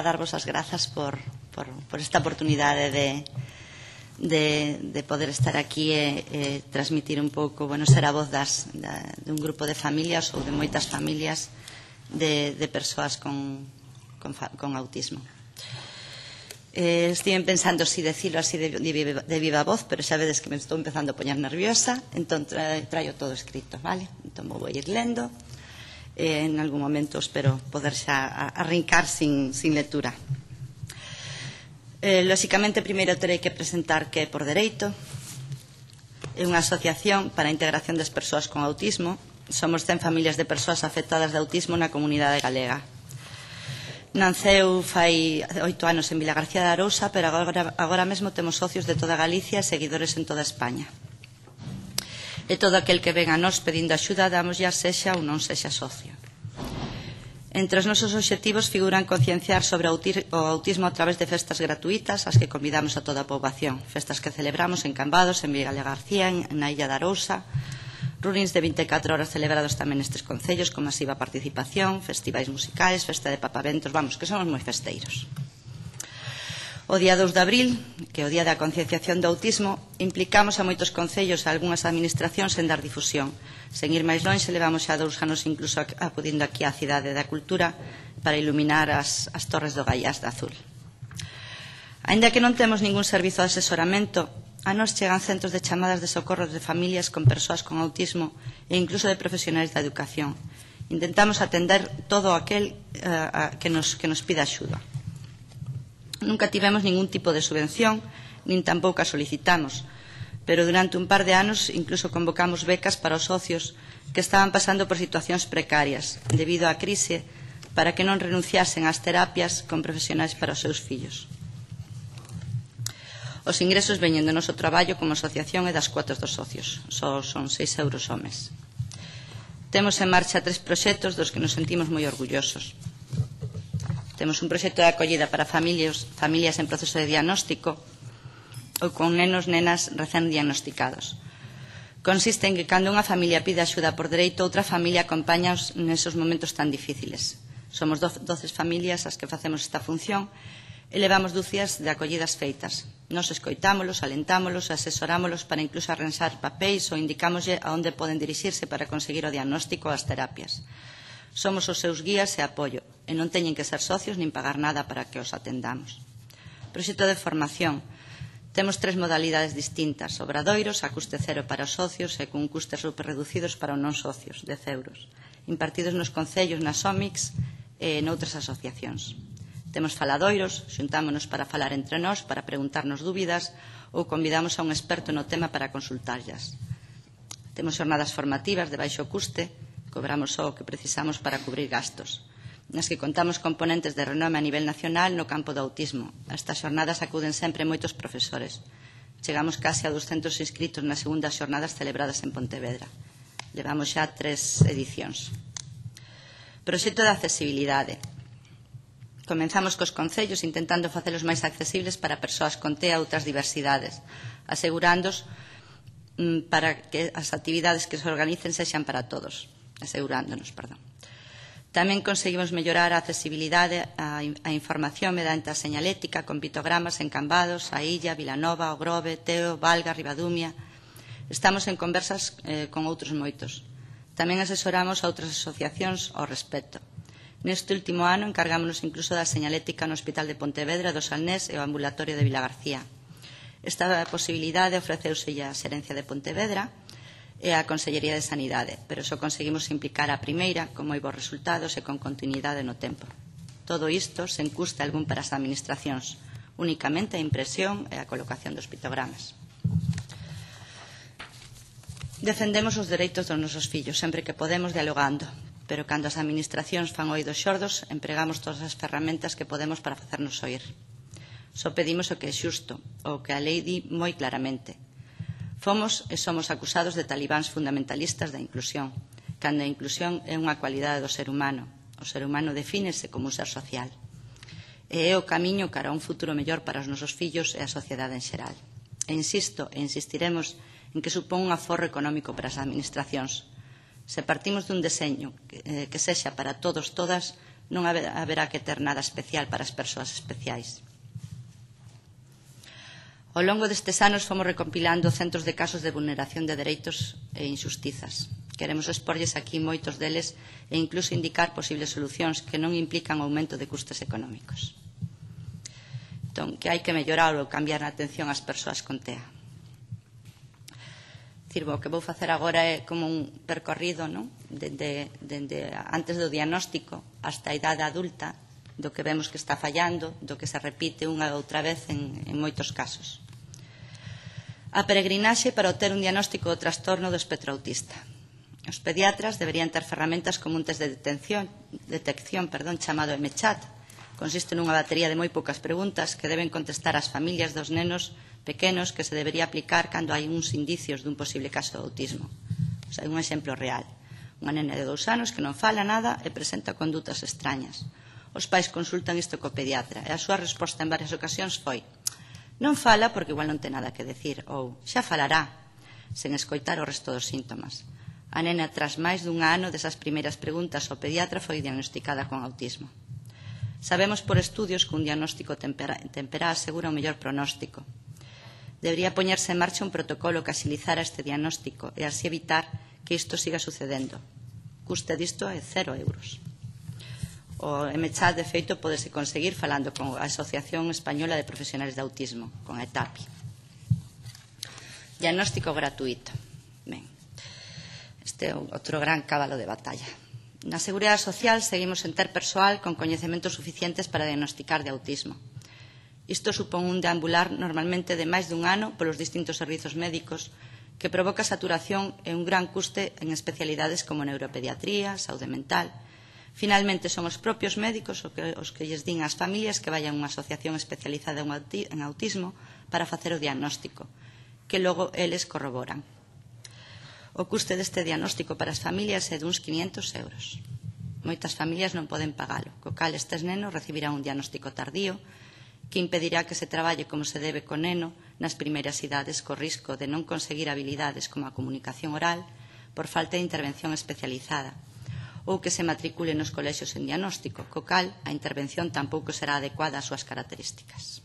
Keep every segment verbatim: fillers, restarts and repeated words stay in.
darvos as grazas por, por, por esta oportunidade de, de, de poder estar aquí e, e transmitir un pouco, bueno, ser a voz das, da, de un grupo de familias ou de moitas familias de, de persoas con, con, con autismo. Eh, estive pensando si decirlo así de, de, de viva voz, pero xa vedes que me estou empezando a poñer nerviosa, entón tra, traio todo escrito, vale? Entón vou ir lendo. Eh, en algún momento espero poder xa arrincar sin, sin lectura. Eh, lóxicamente, primeiro terei que presentar que Por Dereito é unha asociación para a integración das persoas con autismo. Somos cen familias de persoas afectadas de autismo na comunidade galega. Nanceu fai oito anos en Vilagarcía de Arousa, pero agora, agora mesmo temos socios de toda Galicia e seguidores en toda España. E todo aquel que ven a nós pedindo axuda, damos ya sexa ou non sexa socio. Entre os nosos obxectivos figuran concienciar sobre o autismo a través de festas gratuitas, as que convidamos a toda a poboación. Festas que celebramos en Cambados, en Vilagarcía, na Illa de Arousa, runings de vinte e catro horas celebrados tamén nestes concellos, con masiva participación, festivais musicais, festa de papaventos, vamos, que somos moi festeiros. O día dous de abril, que é o día da concienciación do autismo, implicamos a moitos concellos e a algunhas administracións en dar difusión. Sen ir máis longe, levamos xa dous anos incluso acudindo aquí á Cidade da Cultura para iluminar as, as torres do Gaiás de azul. Aínda que non temos ningún servizo de asesoramento, a nos chegan centos de chamadas de socorro de familias con persoas con autismo e incluso de profesionais da educación. Intentamos atender todo aquel uh, que, nos, que nos pida axuda. Nunca tivemos ningún tipo de subvención, nin tampouco a solicitamos, pero durante un par de anos incluso convocamos becas para os socios que estaban pasando por situacións precarias debido á crise para que non renunciasen ás terapias con profesionais para os seus fillos. Os ingresos veñen do noso traballo como asociación e das cuotas dos socios, só son seis euros ao mes. Temos en marcha tres proxectos dos que nos sentimos moi orgullosos. Temos un proxecto de acollida para familias, familias en proceso de diagnóstico ou con nenos, nenas recén diagnosticados. Consiste en que cando unha familia pide axuda por dereito, outra familia acompáñaos nesos momentos tan difíciles. Somos doce familias as que facemos esta función e levamos dúcias de acollidas feitas. Nos escoitámolos, alentámolos, asesorámolos para incluso arranxar papéis ou indicámoslle a onde poden dirixirse para conseguir o diagnóstico ou as terapias. Somos os seus guías e apoio, e non teñen que ser socios nin pagar nada para que os atendamos. Proxecto de formación. Temos tres modalidades distintas, obradoiros a custe cero para os socios e con custes superreducidos para os non socios, dez euros, impartidos nos concellos, nas O M I Cs e noutras asociacións. Temos faladoiros, xuntámonos para falar entre nós, para preguntarnos dúbidas ou convidamos a un experto no tema para consultarllas. Temos xornadas formativas de baixo custe, cobramos só o que precisamos para cubrir gastos, nas que contamos componentes de renome a nivel nacional no campo do autismo. A estas xornadas acuden sempre moitos profesores. Chegamos case a doscentos inscritos nas segundas xornadas celebradas en Pontevedra. Levamos xa tres edicións. Proxecto de accesibilidade. Comenzamos cos concellos intentando facelos máis accesibles para persoas con T E A e outras diversidades, asegurándos mm, para que as actividades que se organicen sexan para todos. asegurándonos, perdón. Tamén conseguimos mellorar a accesibilidade á información mediante a señalética con pictogramas en Cambados, a Illa, Vilanova, o Grove, Teo, Valga, Ribadumia. Estamos en conversas eh, con outros moitos. Tamén asesoramos a outras asociacións ao respecto. Neste último ano encargámonos incluso da señalética no Hospital de Pontevedra, do Salnés e o ambulatorio de Vilagarcía. Esta posibilidade ofreceuse a Xerencia de Pontevedra e a Consellería de Sanidade, pero só conseguimos implicar a primeira con moi bons resultados e con continuidade no tempo. Todo isto sen custe algún para as administracións, únicamente a impresión e a colocación dos pictogramas. Defendemos os dereitos dos nosos fillos, sempre que podemos dialogando, pero cando as administracións fan oídos xordos, empregamos todas as ferramentas que podemos para facernos oír. Só pedimos o que é xusto, o que a lei di moi claramente. Fomos e somos acusados de talibáns fundamentalistas da inclusión, cando a inclusión é unha cualidade do ser humano. O ser humano defínese como un ser social. E é o camiño cara a un futuro mellor para os nosos fillos e a sociedade en xeral. E insisto e insistiremos en que supón un aforro económico para as administracións. Se partimos dun deseño que, eh, que sexa para todos, todas, non haberá que ter nada especial para as persoas especiais. Ao longo destes anos fomos recompilando centos de casos de vulneración de dereitos e injustizas. Queremos exporlles aquí moitos deles e incluso indicar posibles solucións que non implican aumento de custes económicos. Entón, que hai que mellorar ou cambiar a atención ás persoas con T E A. O que vou facer agora é como un percorrido, non? Dende, dende antes do diagnóstico hasta a idade adulta, do que vemos que está fallando, do que se repite unha e outra vez en, en moitos casos. A peregrinaxe para obter un diagnóstico do trastorno do espectro autista. Os pediatras deberían ter ferramentas como un test de detección, detección perdón, chamado EMECHAT. Consiste nunha batería de moi poucas preguntas que deben contestar as familias dos nenos pequenos que se debería aplicar cando hai uns indicios dun posible caso de autismo. O sea, un exemplo real. Unha nena de dous anos que non fala nada e presenta condutas extrañas. Os pais consultan isto co pediatra e a súa resposta en varias ocasións foi: non fala porque igual non ten nada que decir, ou xa falará, sen escoitar o resto dos síntomas. A nena, tras máis dun ano desas primeiras preguntas ao pediatra, foi diagnosticada con autismo. Sabemos por estudios que un diagnóstico temperá asegura un mellor pronóstico. Debería poñerse en marcha un protocolo que axilizara este diagnóstico e así evitar que isto siga sucedendo. Custe disto é cero euros. O EMECHAT, de feito, podese conseguir falando con a Asociación Española de Profesionales de Autismo, con a ETAPI. Diagnóstico gratuito. Ben, este é outro gran cabalo de batalla. Na Seguridade Social seguimos sen ter persoal con coñecementos suficientes para diagnosticar de autismo. Isto supón un deambular normalmente de máis dun ano polos distintos servizos médicos que provoca saturación e un gran custe en especialidades como neuropediatría, saúde mental. Finalmente, son os propios médicos os que lles din ás familias que vayan a unha asociación especializada en autismo para facer o diagnóstico, que logo eles corroboran. O custe deste diagnóstico para as familias é duns quinhentos euros. Moitas familias non poden pagalo, co cal estes nenos recibirán un diagnóstico tardío que impedirá que se traballe como se debe co neno nas primeiras idades co risco de non conseguir habilidades como a comunicación oral por falta de intervención especializada, ou que se matricule nos colexios en diagnóstico, co cal a intervención tampouco será adecuada ás súas características.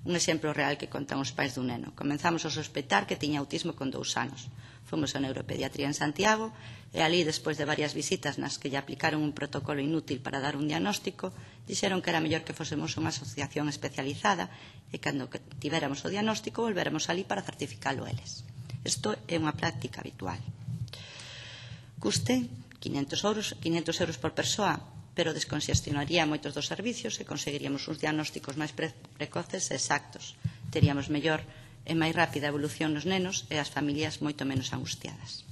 Un exemplo real que contan os pais dun neno. Comenzamos a sospeitar que tiña autismo con dous anos. Fomos a neuropediatría en Santiago e ali, despois de varias visitas nas que lle aplicaron un protocolo inútil para dar un diagnóstico, dixeron que era mellor que fósemos unha asociación especializada e cando tivéramos o diagnóstico volvéramos ali para certificalo eles. Isto é unha práctica habitual. Custe quinhentos euros por persoa, pero desconxestionaría moitos dos servicios e conseguiríamos uns diagnósticos máis precoces e exactos. Teríamos mellor e máis rápida evolución nos nenos e as familias moito menos angustiadas.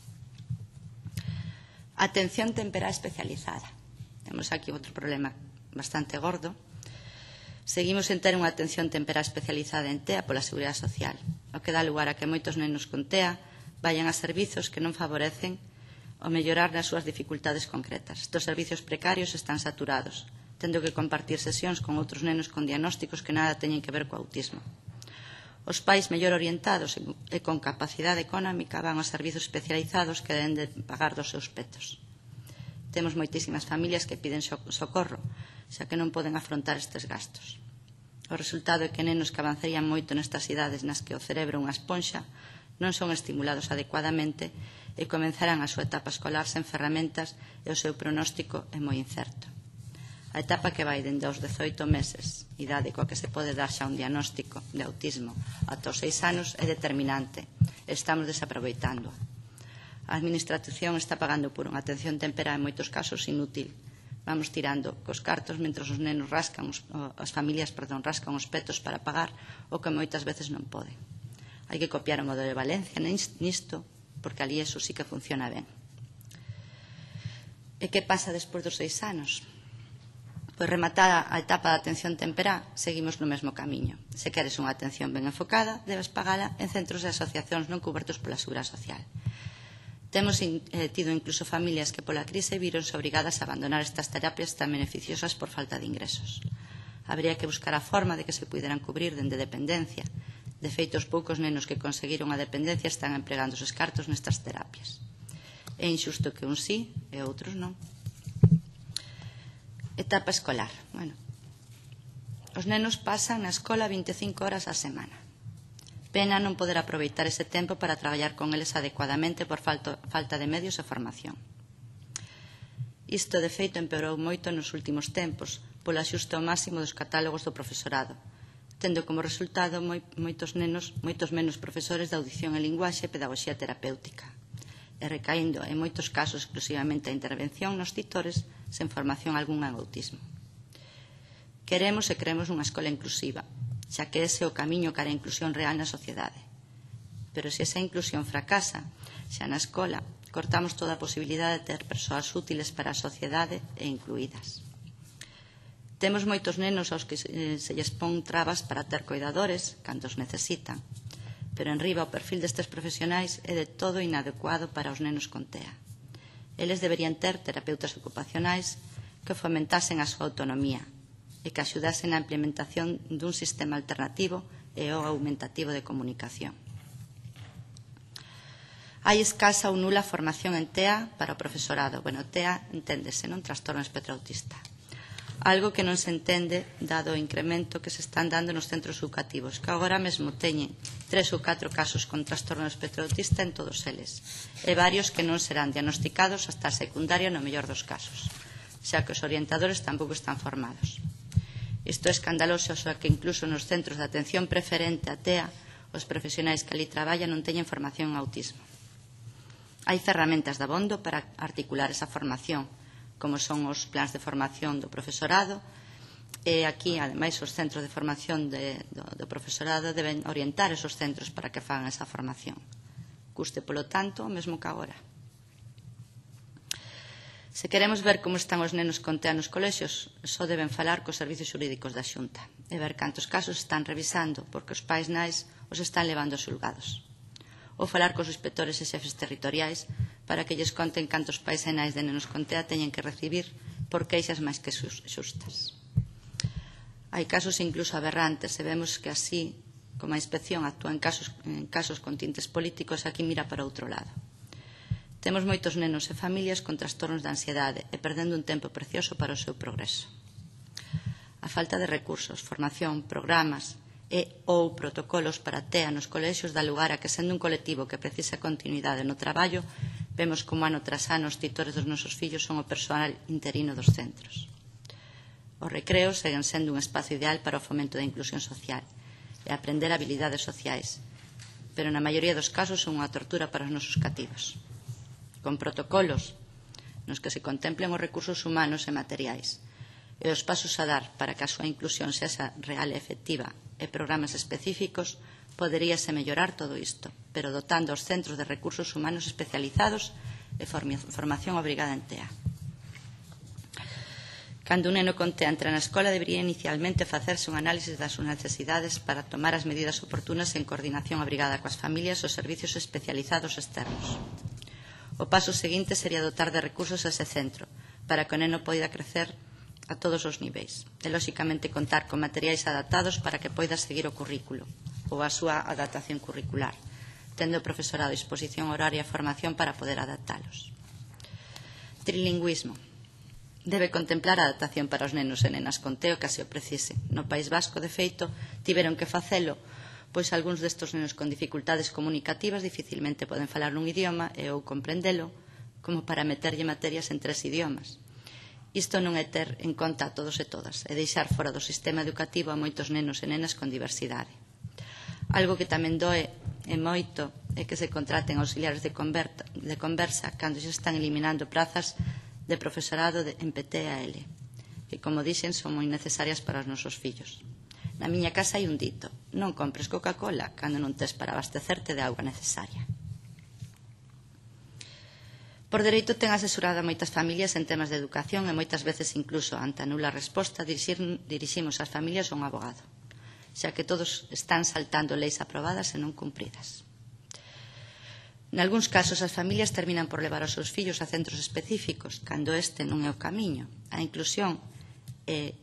Atención temperá especializada. Temos aquí outro problema bastante gordo. Seguimos en ter unha atención temperá especializada en T E A pola Seguridade Social, o que dá lugar a que moitos nenos con T E A vayan a servizos que non favorecen o mellorar nas súas dificultades concretas. Estos servizos precarios están saturados, tendo que compartir sesións con outros nenos con diagnósticos que nada teñen que ver co autismo. Os pais mellor orientados e con capacidade económica van aos servizos especializados que deben de pagar dos seus petos. Temos moitísimas familias que piden socorro, xa que non poden afrontar estes gastos. O resultado é que nenos que avanzarían moito nestas idades nas que o cerebro é unha esponxa non son estimulados adecuadamente e comenzarán a súa etapa escolar sen ferramentas e o seu pronóstico é moi incerto. A etapa que vai dende aos dezoito meses, idade coa que se pode dar xa un diagnóstico de autismo, ata os seis anos é determinante e estamos desaproveitando. A Administración está pagando por unha atención temperá en moitos casos inútil. Vamos tirando cos cartos mentre os nenos rascan, as familias, perdón, rascan os petos para pagar o que moitas veces non poden. Hai que copiar o modelo de Valencia nisto, porque ali eso sí que funciona ben. E que pasa despois dos seis anos? Pois rematada a etapa de atención temperá, seguimos no mesmo camiño. Se queres unha atención ben enfocada, debes pagala en centros e asociacións non cubertos pola Seguridade Social. Temos eh, tido incluso familias que pola crise vironse obrigadas a abandonar estas terapias tan beneficiosas por falta de ingresos. Habría que buscar a forma de que se puderan cubrir dende dependencia. De feito, os poucos nenos que conseguiron a dependencia están empregando os cartos nestas terapias. É injusto que uns sí e outros non. Etapa escolar. Bueno, os nenos pasan na escola vinte e cinco horas á semana. Pena non poder aproveitar ese tempo para traballar con eles adecuadamente por falta, falta de medios e formación. Isto, de feito, empeorou moito nos últimos tempos polo axuste ao máximo dos catálogos do profesorado, tendo como resultado moi, moitos, nenos, moitos menos profesores de audición e linguaxe e pedagogía terapéutica, e recaindo en moitos casos exclusivamente a intervención nos titores sen formación algunha en autismo. Queremos e creemos nunha escola inclusiva, xa que ese é o camiño cara a inclusión real na sociedade. Pero se esa inclusión fracasa, xa na escola, cortamos toda a posibilidade de ter persoas útiles para a sociedade e incluídas. Temos moitos nenos aos que se lles pon trabas para ter cuidadores cando os necesitan, pero en riba o perfil destes profesionais é de todo inadecuado para os nenos con T E A. Eles deberían ter terapeutas ocupacionais que fomentasen a súa autonomía e que axudasen na implementación dun sistema alternativo e ou aumentativo de comunicación. Hai escasa ou nula formación en T E A para o profesorado. Bueno, T E A enténdese, non? Trastorno espectro autista. Algo que non se entende dado o incremento que se están dando nos centros educativos, que agora mesmo teñen tres ou catro casos con trastorno espectro autista en todos eles, e varios que non serán diagnosticados hasta a secundaria no mellor dos casos, xa que os orientadores tampouco están formados. Isto é escandaloso, xa que incluso nos centros de atención preferente a T E A, os profesionais que ali traballan non teñen formación en autismo. Hai ferramentas de abondo para articular esa formación, como son os plans de formación do profesorado, e aquí, ademais, os centros de formación de, do, do profesorado deben orientar esos centros para que fagan esa formación. Custe, polo tanto, o mesmo que agora. Se queremos ver como están os nenos con T E A nos colexios, só deben falar cos servizos xurídicos da Xunta e ver cantos casos están revisando porque os pais nais os están levando aos xulgados. Ou falar cos inspectores e xefes territoriais para que lles conten cantos pais e nais de nenos con T E A teñen que recibir por queixas máis que xustas. Hai casos incluso aberrantes e vemos que así, como a inspección actúa en casos, en casos con tintes políticos, aquí mira para outro lado. Temos moitos nenos e familias con trastornos de ansiedade e perdendo un tempo precioso para o seu progreso. A falta de recursos, formación, programas e ou protocolos para T E A nos colexios dá lugar a que, sendo un colectivo que precisa continuidade no traballo, vemos como ano tras ano os titores dos nosos fillos son o persoal interino dos centros. Os recreos seguen sendo un espazo ideal para o fomento da inclusión social e aprender habilidades sociais, pero na maioría dos casos son unha tortura para os nosos cativos. Con protocolos nos que se contemplen os recursos humanos e materiais e os pasos a dar para que a súa inclusión sexa real e efectiva e programas específicos, poderíase mellorar todo isto, pero dotando os centros de recursos humanos especializados e formación obrigada en T E A. Cando un neno con T E A entra na escola, debería inicialmente facerse un análisis das súas necesidades para tomar as medidas oportunas en coordinación obrigada coas familias e os servicios especializados externos. O paso seguinte sería dotar de recursos a ese centro, para que o neno poida crecer a todos os niveis, e, lóxicamente, contar con materiais adaptados para que poida seguir o currículo, ou a súa adaptación curricular, tendo o profesorado a disposición horaria e formación para poder adaptalos. Trilingüismo. Debe contemplar a adaptación para os nenos e nenas con T E A que así o precise. No País Vasco, de feito, tiveron que facelo, pois algúns destes nenos con dificultades comunicativas dificilmente poden falar nun idioma e ou comprendelo, como para meterlle materias en tres idiomas. Isto non é ter en conta a todos e todas, é deixar fora do sistema educativo a moitos nenos e nenas con diversidade. Algo que tamén doe e moito é que se contraten auxiliares de, converta, de conversa cando se están eliminando prazas de profesorado de, en P T A L, que, como dixen, son moi necesarias para os nosos fillos. Na miña casa hai un dito: non compres Coca-Cola cando non tes para abastecerte de auga necesaria. Por dereito ten asesorado a moitas familias en temas de educación e moitas veces incluso ante a nula resposta dirixir, diriximos as familias a un abogado, xa que todos están saltando leis aprobadas e non cumpridas. Nalgúns casos as familias terminan por levar os seus fillos a centros específicos cando este non é o camiño. A inclusión é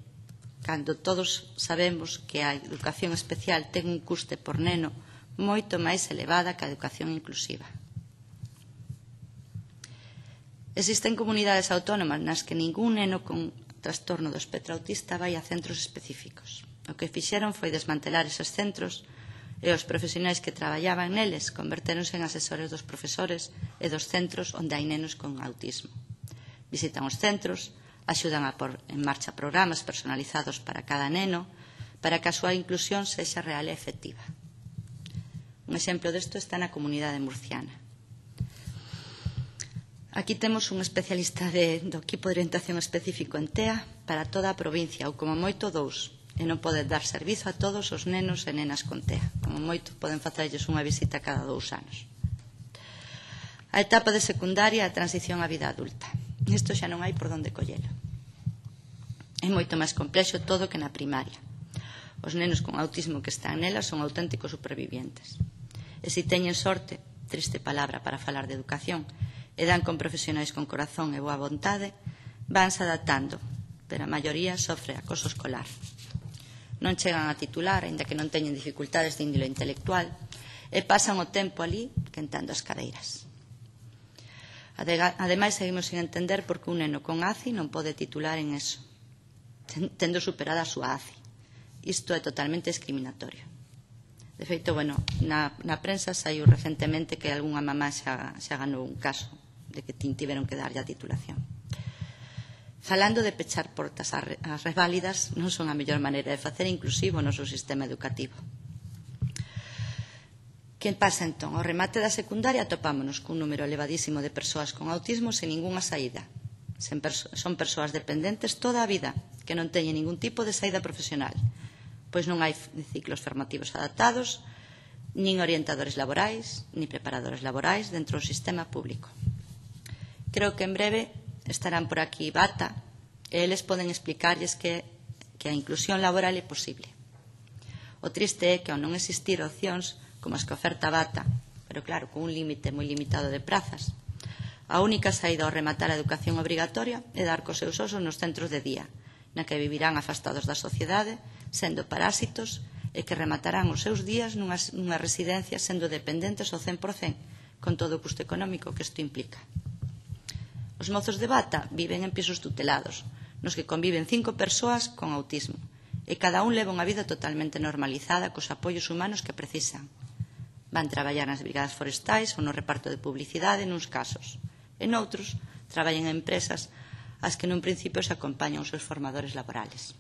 cando todos sabemos que a educación especial ten un custe por neno moito máis elevada que a educación inclusiva. Existen comunidades autónomas nas que ningún neno con trastorno do espectro autista vai a centros específicos. O que fixeron foi desmantelar eses centros e os profesionais que traballaban neles convertéronse en asesores dos profesores e dos centros onde hai nenos con autismo. Visitan os centros, axudan a pôr en marcha programas personalizados para cada neno para que a súa inclusión sexa real e efectiva. Un exemplo desto está na comunidade murciana. Aquí temos un especialista de, do equipo de orientación específico en T E A para toda a provincia, ou como moito dous, e non pode dar servizo a todos os nenos e nenas con T E A. Como moito poden facerlles unha visita cada dous anos. A etapa de secundaria e a transición á vida adulta. Isto xa non hai por onde collelo. É moito máis complexo todo que na primaria. Os nenos con autismo que están nela son auténticos supervivientes. E se teñen sorte, triste palabra para falar de educación, e dan con profesionais con corazón e boa vontade, vanse adaptando, pero a maioría sofre acoso escolar. Non chegan a titular, aínda que non teñen dificultades de índole intelectual, e pasan o tempo ali quentando as cadeiras. Ademais, seguimos sin entender por que un neno con A C I non pode titular en eso, tendo superada a súa A C I. Isto é totalmente discriminatorio. De feito, bueno, na, na prensa saiu recentemente que algunha mamá xa, xa ganou un caso de que tiveron que darlle a titulación. Falando de pechar portas ás reválidas, non son a mellor maneira de facer inclusivo o noso sistema educativo. Que pasa entón? Ao remate da secundaria topámonos cun número elevadísimo de persoas con autismo sen ningunha saída. Son persoas dependentes toda a vida, que non teñen ningún tipo de saída profesional, pois non hai ciclos formativos adaptados, nin orientadores laborais, nin preparadores laborais dentro do sistema público. Creo que en breve estarán por aquí Bata e eles poden explicarlles que, que a inclusión laboral é posible. O triste é que ao non existir opcións como as que oferta Bata, pero claro, con un límite moi limitado de prazas, a única saída ao rematar a educación obrigatoria é dar cos seus osos nos centros de día, na que vivirán afastados da sociedade, sendo parásitos, e que rematarán os seus días nunha, nunha residencia sendo dependentes ao cen por cen, con todo o custo económico que isto implica. Os mozos de Bata viven en pisos tutelados, nos que conviven cinco persoas con autismo, e cada un leva unha vida totalmente normalizada cos apoios humanos que precisan. Van traballar nas brigadas forestais ou no reparto de publicidade nuns casos, e noutros traballan en empresas ás que nun principio se acompañan os seus formadores laborales.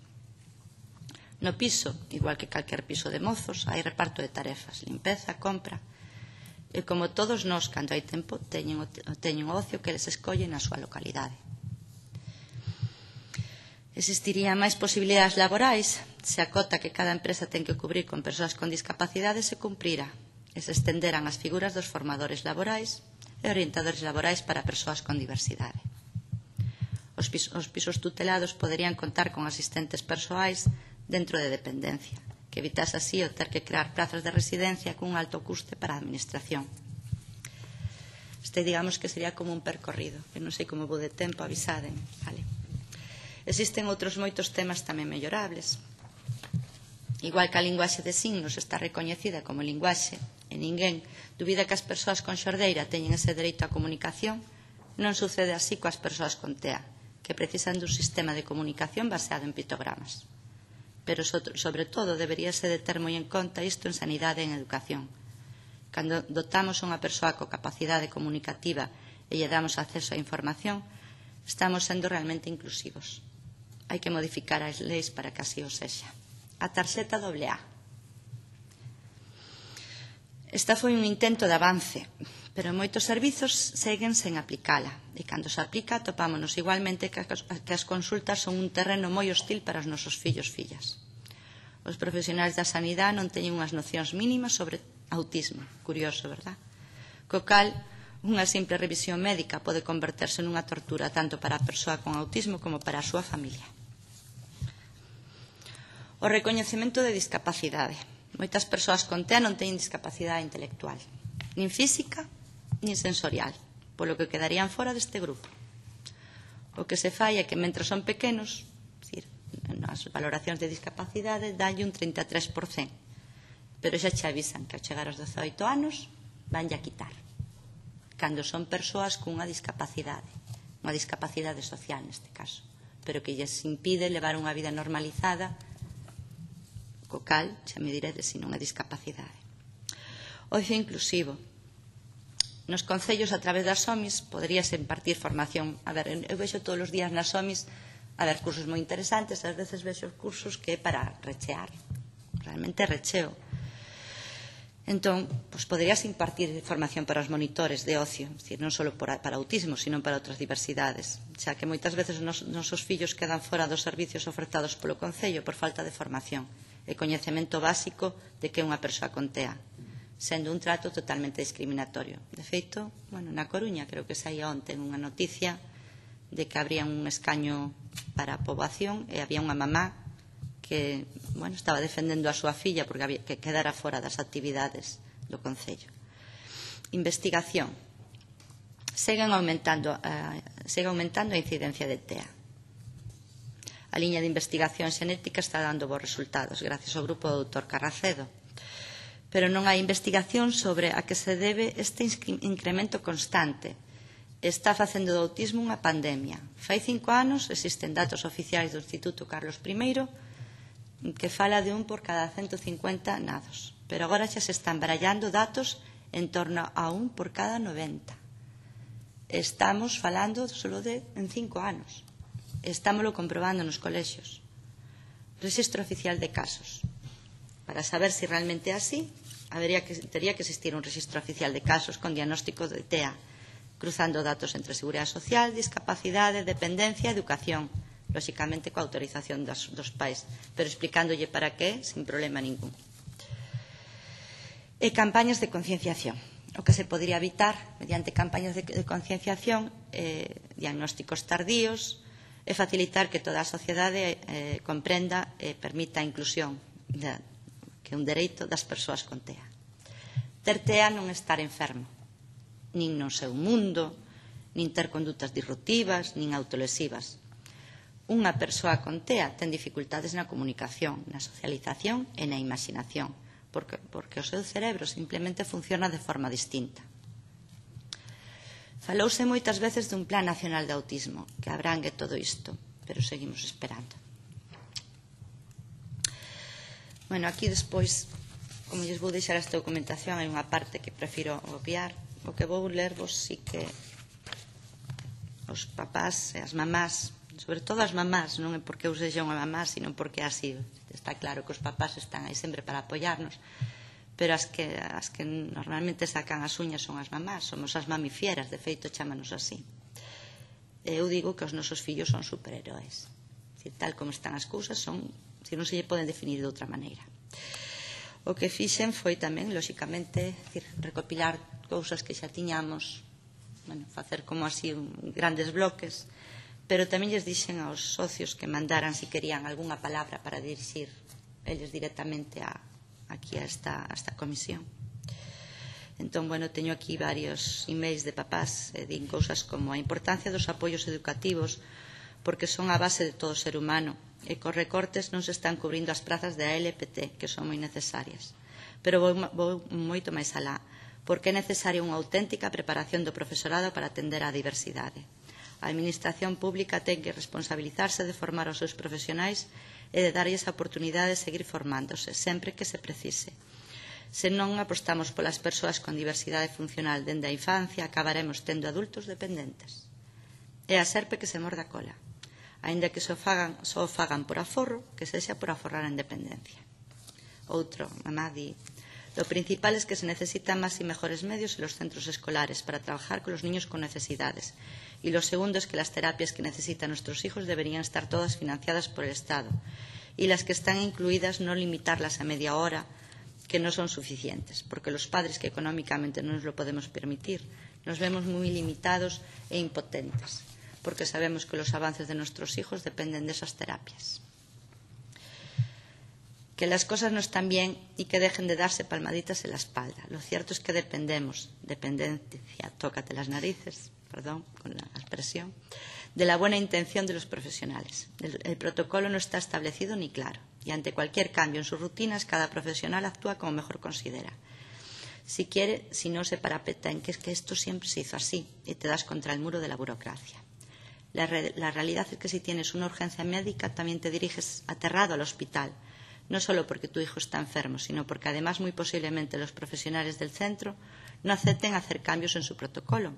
No piso, igual que calquer piso de mozos, hai reparto de tarefas, limpeza, compra, e como todos nós, cando hai tempo, teñen o, teñen o ocio que les escollen na súa localidade. Existirían máis posibilidades laborais se a cota que cada empresa ten que cubrir con persoas con discapacidade se cumprira e se estenderan as figuras dos formadores laborais e orientadores laborais para persoas con diversidade. Os pisos, os pisos tutelados poderían contar con asistentes persoais dentro de dependencia, que evitase así o ter que crear plazas de residencia cun alto custe para a administración. Este, digamos, que sería como un percorrido, que non sei como vou de tempo, avisaden, vale? Existen outros moitos temas tamén mellorables. Igual que a linguaxe de signos está recoñecida como linguaxe e ninguén dubida que as persoas con xordeira teñen ese dereito á comunicación, non sucede así coas persoas con T E A, que precisan dun sistema de comunicación baseado en pictogramas. Pero, sobre todo, deberíase de ter moi en conta isto en sanidade e en educación. Cando dotamos a unha persoa co capacidade comunicativa e lle damos acceso á información, estamos sendo realmente inclusivos. Hai que modificar as leis para que así o sexa. A tarxeta doble A. Esta foi un intento de avance, pero moitos servizos seguen sen aplicala, e cando se aplica topámonos igualmente que as consultas son un terreno moi hostil para os nosos fillos e fillas. Os profesionais da sanidade non teñen unhas nocións mínimas sobre autismo, curioso, verdad? Co cal, unha simple revisión médica pode converterse nunha tortura tanto para a persoa con autismo como para a súa familia. O recoñecemento de discapacidade. Moitas persoas con T E A non teñen discapacidade intelectual, nin física, nin sensorial, polo que quedarían fora deste grupo. O que se fai é que, mentre son pequenos, decir, nas valoracións de discapacidade, dalle un trinta e tres por cen, pero xa che avisan que ao chegar aos dezoito anos vanlle a quitar, cando son persoas cunha discapacidade, unha discapacidade social neste caso, pero que lles impide levar unha vida normalizada, co cal, xa me diredes se non é discapacidade. Ocio inclusivo. Nos concellos, a través das O M I S, poderíase impartir formación. A ver, eu vexo todos os días nas O M I S a ver cursos moi interesantes, ás veces vexo cursos que é para rechear, realmente recheo. Entón, pues, poderíase impartir formación para os monitores de ocio, es decir, non só para, para autismo, sino para outras diversidades, xa que moitas veces os nosos fillos quedan fora dos servicios ofertados polo Concello por falta de formación e coñecemento básico de que é unha persoa con T E A, sendo un trato totalmente discriminatorio. De feito, bueno, na Coruña, creo que saía onte unha noticia de que habría un escaño para a poboación e había unha mamá que, bueno, estaba defendendo a súa filla porque había que quedara fora das actividades do Concello. Investigación. Seguen aumentando, uh, segue aumentando a incidencia de T E A. A liña de investigación xenética está dando bons resultados, gracias ao grupo do doutor Carracedo. Pero non hai investigación sobre a que se debe este incremento constante. Está facendo do autismo unha pandemia. Fai cinco anos existen datos oficiais do Instituto Carlos I que fala de un por cada ciento cincuenta nados. Pero agora xa se están barallando datos en torno a un por cada noventa. Estamos falando solo de en cinco anos. Estámoslo comprobando nos colexios. Registro oficial de casos. Para saber se si realmente é así, habería que, tería que existir un registro oficial de casos con diagnóstico de T E A, cruzando datos entre seguridade social, discapacidade, dependencia e educación, lóxicamente coa autorización dos, dos pais, pero explicándolle para qué, sin problema ningún. E campañas de concienciación. O que se podría evitar mediante campañas de, de concienciación, eh, diagnósticos tardíos, e facilitar que toda a sociedade eh, comprenda e permita a inclusión de, que é un dereito das persoas con T E A. Ter T E A non estar enfermo, nin no seu mundo, nin ter condutas disruptivas, nin autolesivas. Unha persoa con T E A ten dificultades na comunicación, na socialización e na imaginación, porque, porque o seu cerebro simplemente funciona de forma distinta. Falouse moitas veces dun Plan Nacional de Autismo que abrangue todo isto, pero seguimos esperando. Bueno, aquí despois, como lles vou deixar esta documentación, hai unha parte que prefiro obviar. O que vou lervos sí que os papás e as mamás, sobre todo as mamás, non é porque eu sexa unha mamá, sino porque así está claro que os papás están aí sempre para apoiarnos, pero as que, as que normalmente sacan as uñas son as mamás, somos as mamifieras, de feito chámanos así. Eu digo que os nosos fillos son superheróis, tal como están as cousas, son, se non se lle poden definir de outra maneira. O que fixen foi tamén, lóxicamente, recopilar cousas que xa tiñamos, bueno, facer como así un, grandes bloques, pero tamén lles dixen aos socios que mandaran se querían algunha palabra para dirixir eles directamente a aquí a esta, a esta comisión. Entón, bueno, teño aquí varios emails de papás e din cousas como a importancia dos apoios educativos porque son a base de todo ser humano e cos recortes non se están cubrindo as prazas de A L P T que son moi necesarias. Pero vou, vou moito máis alá porque é necesaria unha auténtica preparación do profesorado para atender á diversidade. A administración pública ten que responsabilizarse de formar os seus profesionais e de darlles a oportunidade de seguir formándose, sempre que se precise. Se non apostamos polas persoas con diversidade funcional dende a infancia, acabaremos tendo adultos dependentes. É a serpe que se morde a cola. Aínda que só fagan, só fagan por aforro, que sexa por aforrar a independencia. Outro, mamá di, lo principal es que se necesitan más y mejores medios en los centros escolares para trabajar con los niños con necesidades. Y lo segundo es que las terapias que necesitan nuestros hijos deberían estar todas financiadas por el Estado. Y las que están incluidas no limitarlas a media hora, que no son suficientes, porque los padres que económicamente no nos lo podemos permitir, nos vemos muy limitados e impotentes, porque sabemos que los avances de nuestros hijos dependen de esas terapias. Que las cosas no están bien y que dejen de darse palmaditas en la espalda. Lo cierto es que dependemos, dependencia, tócate las narices, perdón, con la expresión, de la buena intención de los profesionales. El, el protocolo no está establecido ni claro, y ante cualquier cambio en sus rutinas, cada profesional actúa como mejor considera. Si quiere, si no se parapeta en que es que esto siempre se hizo así, y te das contra el muro de la burocracia. La, re la realidad es que si tienes una urgencia médica también te diriges aterrado al hospital, no solo porque tu hijo está enfermo, sino porque además muy posiblemente los profesionales del centro no acepten hacer cambios en su protocolo,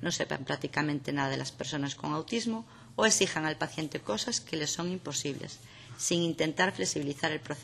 no sepan prácticamente nada de las personas con autismo o exijan al paciente cosas que les son imposibles, sin intentar flexibilizar el procedimiento.